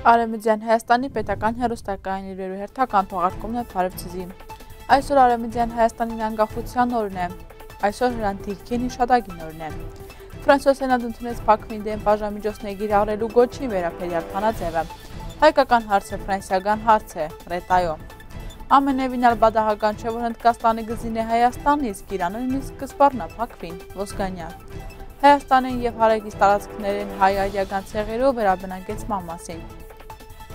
Արևմտյան Հայաստանի պետական հեռուստակայանի հերթական թողարկումն է Փարեվցիզի։ Այսօր Արևմտյան Հայաստանի անկախության օրն է։ Այսօր Հրանտիքին հիշատակին օրն է։ Ֆրանսիոս Սենատն ընդունեց Բաքվին դեմ բաժանմիջոցներ կիրառելու գոչին վերաբերյալ բանաձևը։ Հայկական հարցը ֆրանսիական հարց է, Ռետայո։ Ամենևին ալբադահական չէ, որ Հնդկաստանը գզին է Հայաստան, իսկ Իրանը նույնիսկ կսպառնա Բաքվին, Ոսկանյան։ Հայաստանին եւ հարակից տարածքներին հայ-արիական ցեղերով վերաբնակեցման մասին։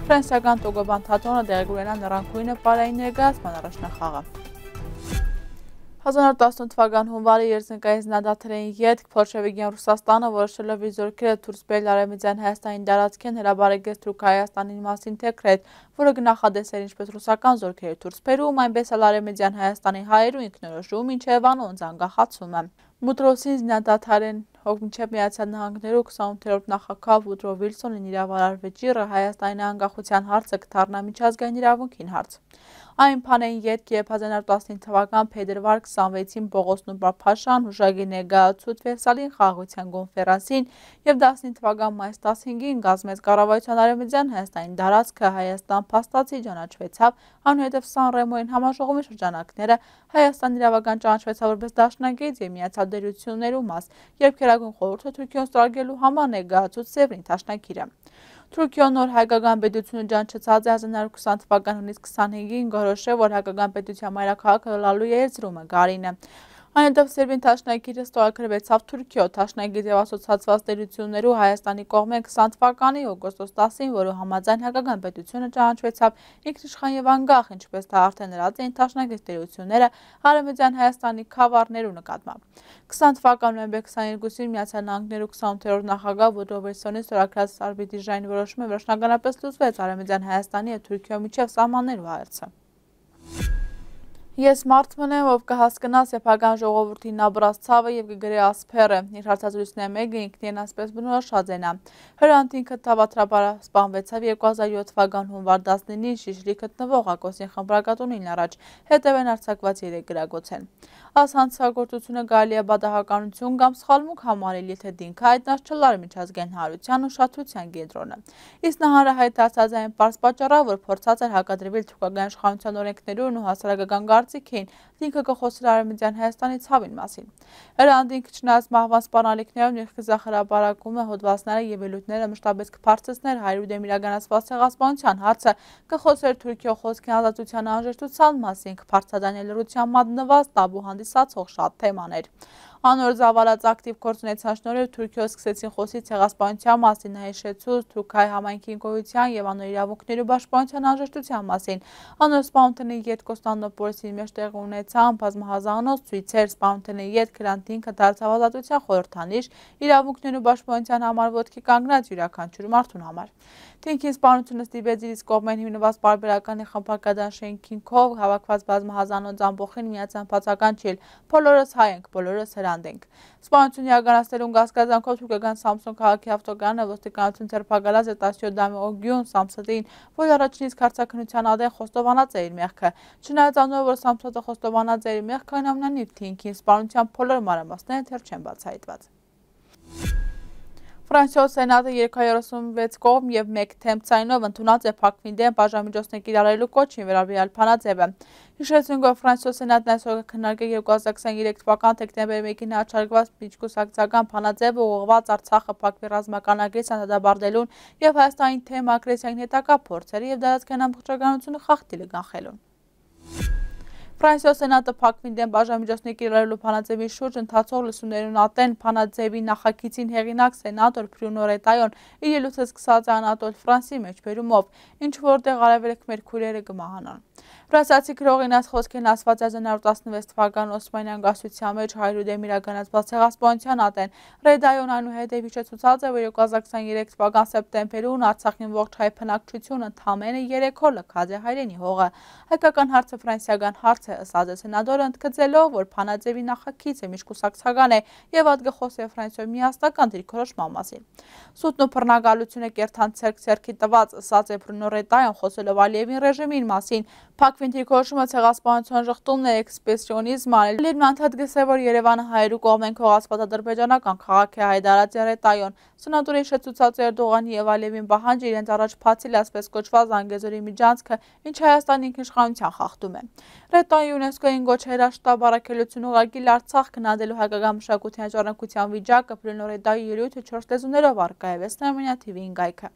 Ֆրանսիական Տոգոբան թատրոնը տեղի կունենա նռանկույնը պարային ներկայացման առաջնախաղը։ 1918 թվական հունվարի երզնկայից նադաթրային ետք Փոլշևիկյան Ռուսաստանը որոշելով իր զորքերը դուրս բերել Արևմտյան Հայաստանի տարածքին հրաբարակեց Թուրք Հայաստանին մասին դեկրետ, որը կնախադես էր ինչպես ռուսական զորքերի դուրս բերում, այնպես էլ Արևմտյան Հայաստանի հայերու ինքնորոշում, մինչև անոնց անկախացումը։ Մուտրոսին զինադադարեն մինչև Միացյալ Նահանգներու 28-րդ նախագահ Վուդրո Վիլսոնին իրավարար վճիռը Հայաստանի անկախության հարցը կդառնա միջազգային իրավունքին հարց։ Այն բանային ետք, երբ 1915 թվական փետրվար 26-ին Պողոս Նուրբափաշան հուշագիր ներկայացուց Վերսալի խաղաղության կոնֆերանսին եւ 15 թվական մայիս 15-ին գազմեց կառավարության Արևմտյան Հայաստանի տարածքը Հայաստան փաստացի ճանաչվեցավ, այնուհետև Սան Ռեմոյին համաժողովի շրջանակները Հայաստան իրավական ճանաչվեցավ որպես դաշնակից եւ միացյալ դերություններու մաս, երբ Գերագույն խորհուրդը Թուրքիան ստորագրելու համար ներկայացուց Սևրին դաշնակիրը։ Թուրքիան նոր հայկական պետությունը ճանաչած է 1920 թվական հունիս 25-ին գորոշել, որ հայկական պետության մայրաքաղաքը լալու է Էրզրումը, Գարինը։ Այնուհետև Սերբին դաշնակիրը ստորագրվեցավ Թուրքիո դաշնակից եւ ասոցիացված տերություններու Հայաստանի կողմեն 20 թվականի օգոստոս 10-ին, որը համաձայն հայկական պետությունը ճանաչվեցավ ինքնիշխան եւ անկախ, ինչպես դա արդեն լրացին դաշնակից տերությունները Արևմտյան Հայաստանի քավառներու նկատմամբ։ 20 թվականի նոյեմբեր 22-ին Միացյալ Նահանգներու 28-րդ նախագահ Վուդրո Վիլսոնի ստորագրած արբիտրաժային որոշումը վերջնականապես լուծվեց Արևմտյան Հայաստանի եւ Թուրքիո միջև սահմաններու հարցը։ Ես մարդն եմ, ով կհասկնա սեփական ժողովրդի նաբրած ցավը եւ կգրե ասփերը։ Իր հարցազրույցների մեկը ինքնին ասպես բնորոշած է նա։ Հրանտ ինքը թավատրաբար սպանվեցավ 2007 թվական հունվար 19-ին Շիշլի գտնվող Ակոսին խմբրակատունին առաջ, հետևեն արձակված 3 գրագոց են։ Աս հանցագործությունը կարելի է բադահականություն կամ սխալմունք համարել, եթե դինքը հայտնած չլար միջազգային հանրության ուշադրության կենտրոնը։ Իսկ նա հանրահայտ դարձած այն պարզ պատճառով, որ փորձած էր հակադրվել թուրքական իշխանության օրենքներուն ու հասարակական կարծիքին, դինքը կխոսեր Արևմտյան Հայաստանի ցավին մասին։ Հրանտ ինքը չնայած մահվան սպառնալիքներով իր խզախրաբարակումը հոդվածները եւ ելույթները մշտապես կբարձրացներ հայրու դեմ իրականացված ցեղասպանության հարցը, կխոսեր Թուրքիո խոսքի ազատության անհրաժեշտության մասին, կբարձրացնել լրության մատնված տաբու հանդիսացող շատ թեմաներ։ Անոր զավարած ակտիվ գործունեության շնորհիվ Թուրքիո սկսեցին խոսի ցեղասպանության մասին, հիշեցուց Թուրքիայի համայնքի գոյության եւ անոր իրավունքներու պաշտպանության անհրաժեշտության մասին։ Անոր սպանությունը յետ Կոստանդնոպոլիսի մեջ տեղի ունեցան բազմահազանոց ցույցեր, սպանությունը յետ Քրանտինքը դարձավ ազատության խորհրդանիշ, իրավունքներու պաշտպանության համար ոտքի կանգնած յուրաքանչյուր մարդուն համար։ Թինքին սպանությունը ստիպեց իր իսկ կողմեն հիմնված պարբերականի խմբակադան շենքինքով հավաքված բազմահազանոց ամբողջին միացան բացական չիլ, բոլորս հայ ենք, բոլորս հրանտ ենք։ Սպանությունը իրականացնելուն կասկածանքով թուրքական Սամսոն քաղաքի ավտոկարանը ոստիկանություն ձերբակալած է 17 դամի Օգյուն Սամսատին, որ առաջինից քարծակնության ադեն խոստովանած է իր մեղքը։ Չնայած անոր որ Սամսատը խոստովանած է իր մեղքը, այնուամենայնիվ թինքին սպանության բոլոր մանրամասները դեռ չեն բացահայտված։ Ֆրանսիոս Սենատը 336 կողմ եւ 1 թեմբ ցայնով ընդունած է Բաքվին դեմ բաժանմիջոցներ կիրառելու կոչին վերաբերյալ բանաձևը։ Հիշեցնենք, որ Ֆրանսիոս Սենատն այսօր կքննարկի 2023 թվական դեկտեմբերի 1-ին հրապարակված միջկուսակցական բանաձևը ուղղված Արցախը Բաքվի ռազմական ագրեսիան դադարեցնելուն եւ Հայաստանի թեմ ագրեսիային հետագա փորձերը եւ դարձական ամբողջականությունը խախտելը կանխելուն։ Ֆրանսիոս Սենատը Բաքվին դեմ բաժանմիջոցներ կիրառելու բանաձևի շուրջ ընթացող լսումներուն ատեն բանաձևի նախագիծին հեղինակ սենատոր Բրունո Ռետայոն իր ելույթը սկսած է Անատոլ Ֆրանսի մեջբերումով, ինչ որտեղ արևելք մեր քույրերը կմահանան։ Ֆրանսիացի գրողին այս խոսքերն ասված է 1916 թվական Օսմանյան գասության մեջ հայրու դեմ իրականացված ցեղասպանության ատեն։ Ռետայոն այնուհետև հիշեցուցած է, որ 2023 թվական սեպտեմբերին Արցախին ողջ հայ բնակչությունը ընդամենը 3 օր լքած է հայրենի հողը։ Հայկական հարցը ֆրանսիական հարց է, ըստ սենատորը ընդգծելով, որ բանաձևի նախագիծը միջկուսակցական է եւ ատգխոսի Ֆրանսիոյի միասնական դիրքորոշման մասին։ Սուտն ու բռնագալությունը կերտան ցերքի տված, ըստ է Բրունո Ռետայան խոսելով Ալիևին ռեժիմի մասին, Բաքվին դիրքորոշումը ցեղասպանության ժխտումն է էքսպրեսիոնիզմ արել։ Լիբն անդադ գսե, որ Երևանը հայերու կողմեն քողացված ադրբեջանական քաղաք է Հայդարացի ռետայոն։ Սենատորի շեցուցած Էրդողանի եւ Ալիևին պահանջը իրենց առաջ փացել ասպես կոչված Զանգեզուրի միջանցքը, ինչ Հայաստանի ինքնիշխանության խախտում է։ Ռետայի ՅՈՒՆԵՍԿՕ-ին գոչ հրաշտապ առաքելություն ուղղակի Արցախ քննադելու հայկական մշակութային ժառանգության վիճակը Պլենո Ռետայի ելույթը 4 լեզուներով առկա է Վեսնամենյա TV-ին գայքը։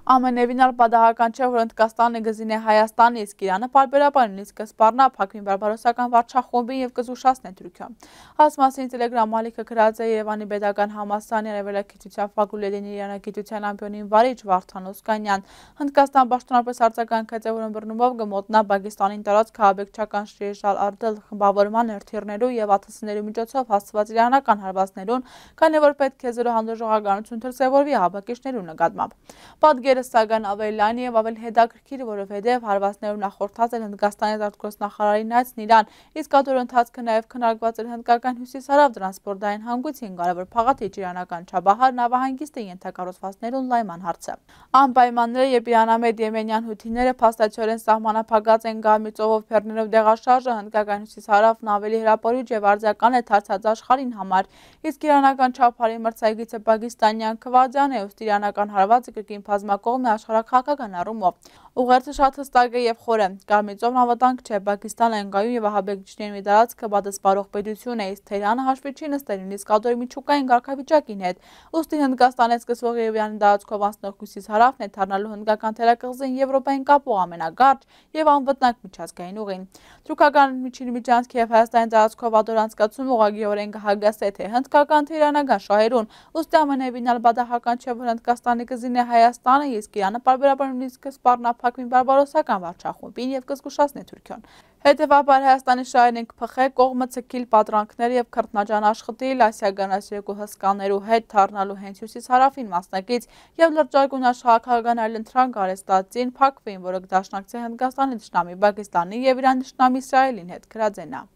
Ամենևին պատահական չէ, որ Հնդկաստանը գզին է Հայաստանի, իսկ Իրանը պարբերաբար նույնիսկ կսպառնա Բաքվին բարբարոսական վարչախումբին եւ կզուշացնի Թուրքիան։ Այս մասին Telegram ալիքը գրած է Երևանի Պետական համալսարանի արևելագիտության ֆակուլտետի իրանագիտության ամբիոնին վարիչ Վարդան Օսկանյան։ Հնդկաստան պաշտոնապես արձագանքեց, որ ըմբռնումով կմոտնա Պակիստանին տարած քաղաքական շրջալ արդել խմբավորման հերթիրներու եւ աթսներու միջոցով հասցված իրանական հարվածներուն, քանի որ պետք է զրո հանդուրժողականություն դրսևորվի հավաքիչներու նկատմամբ։ Սակայն ավելի լայն եւ ավելի հետաքրքիր, որովհետեւ հարվածներով նախորդած էր Հնդկաստանի արտգործնախարարին այցն Իրան, իսկ ադոր ընթացքը նաեւ քննարկված էր հնդկական հյուսիսարավ տրանսպորտային հանգույցին կարևոր փաղաթիչ իրանական Չաբահար նավահանգիստի ենթակառուցվածքներուն լայման հարցը։ Անպայմանները, երբ իրանամետ եմենյան հութիները փաստացիորեն սահմանափակած են Գամի ծովով բեռներով դեղաշարժը, հնդկական հյուսիսարավն ավելի հրապարույց եւ արձական է դարձած աշխարհին համար, իսկ իրանական Չաբահարի մրցակիցը պակիստանյան Քվադյան է, ըստ իրանական հարվածը կրկին բազմակողմ է աշխարհաքաղաքական առումով։ Ուղերձը շատ հստակ է եւ խոր է։ Գամի ծովն անվտանգ չէ, Պակիստանը ընկայուն եւ ահաբեկիչների մի տարածքը պատասխանող պետություն է, իսկ Թեհրանը հաշվի չի նստել նույնիսկ ադորի միջուկային կարգավիճակին հետ։ Ուստի Հնդկաստանից սկսվող Երևանի տարածքով անցնող հյուսիսարավն է դառնալու հնդկական թերակղզին Եվրոպային կապող ամենագարճ եւ անվտանգ միջազգային ուղին։ Թուրքական միջանցքի եւ Հայաստանի տարածքով ադոր անցկացումը ուղղակիորեն կհագասե թե հնդկական թե իրանական շահերուն։ Ուստի ամենևին պատահական չէ, որ Հնդկաստանի կզին է Հայաստանը, իսկ Իրանը պարբերաբար նույնիսկ սպառնա Բաքվին բարբարոսական վարչախումբին եւ կզգուշացնի Թուրքիան։ Հետևաբար Հայաստանի շահերին կփխե կողմը ցկիլ պատրանքներ եւ քրտնաջան աշխատել ասիական երկու հսկաներու հետ դառնալու հենց հյուսիսարավին մասնակից եւ լրջագույն աշխարհական այլընտրանք արեստացին Բաքվին, որը կդաշնակցի Հնդկաստանի դաշնամի Պակիստանի եւ Իրանի դաշնամի Իսրայելին հետ գրածենա։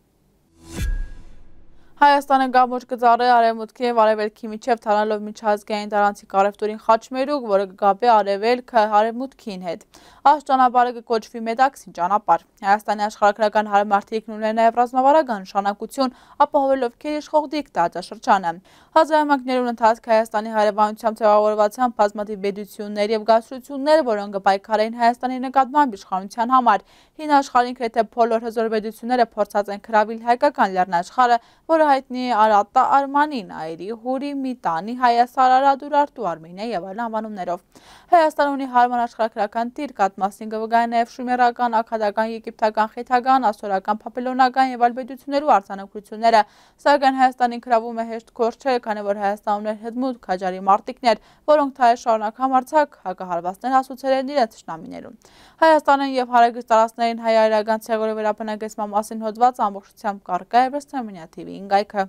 Հայաստանը գամոջ կծառե արևմուտքի եւ արևելքի միջև թալալով միջազգային տարանցիկ առևտուրին խաչմերուկ, որը կգաբե արևելքը արևմուտքին հետ։ Այս ճանապարհը կկոչվի Մեդաքսի ճանապարհ։ Հայաստանի աշխարհագրական հարմարթիքն ուներ նաեւ ռազմավարական նշանակություն, ապահովելով քերիշխող դիկտատորաշրջանը։ 1900-ականներուն ընթացք Հայաստանի հարևանությամբ ձևավորվածան բազմաթիվ պետություններ եւ գաղութություններ, որոնք կպայքարեին Հայաստանի նկատմամբ իշխանության համար։ Հին աշխարհին գրեթե բոլոր հզոր պետությունները փորձած են քրավել հայկական լեռնաշխարհը, որը հայտնի է Արատա, Արմանի, Նայիրի, Հուրի, Միտանի, Հայասար, Արադուրարտու, Արմենիա եւ այլ անվանումներով։ Հայաստանը ունի հարմար աշխարհագրական դիրք, մասին կվգայի նաեւ շումերական, աքադական, եգիպտական, խեթական, ասորական, փապելոնական եւ այլ պետություններու արձանագրությունները, սակայն Հայաստանին գրավում է հեշտ գործ չէ, քանի որ Հայաստանում ուներ հետմուտ քաջարի մարտիկներ, որոնք թայ շարունակ համարձակ հակահարվածներ հասուցել են իրենց թշնամիներուն։ Հայաստանն եւ հարագիստ տարածքներին հայ-այրական ցեղորի վերաբնակեցման մասին հոդված ամբողջությամբ կարգա է Վեսնամենյա TV-ին գայքը։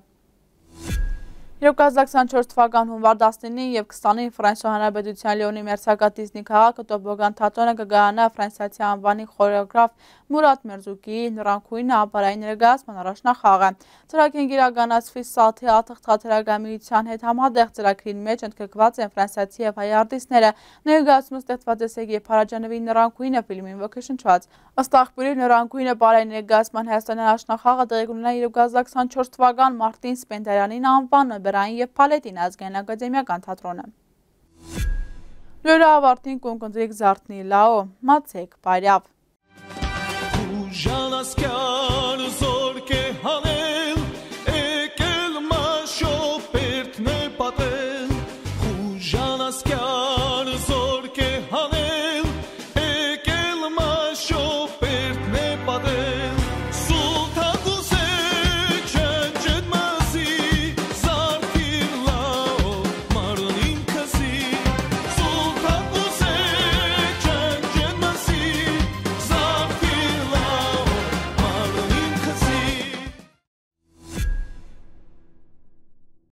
2024 թվական հունվար 19-ին եւ 20-ին Ֆրանսիա Հանրապետության Լիոնի մերձակա քաղաքը Տոբոգան թատրոնը կգայանա ֆրանսիացի անվանի խորեոգրաֆ Մուրադ Մերզուկիի նռանքույն ապարային ներկայացման առաջնախաղը։ Ծրագիրը իրականացվի Սաթի թատրոնի հետ համատեղ ծրագրին մեջ ընդգրկված են ֆրանսիացի եւ հայ արտիստները։ Ներկայացումը ստեղծված է Սերգեյ Փարաջանովի նռանքույնը ֆիլմին ոգեշնչված։ Ըստ աղբյուրի նռանքույնը ապարային ներկայացման Հայաստանի առաջնախաղը տեղի կունենա 2024 թվական մարտին Սպենդիարանին անվանը եւ Փալետին ազգային ակադեմիական թատրոնը։ Լուրը ավարտին կոնկրետ զարթնի լաո, մացեք բարյավ։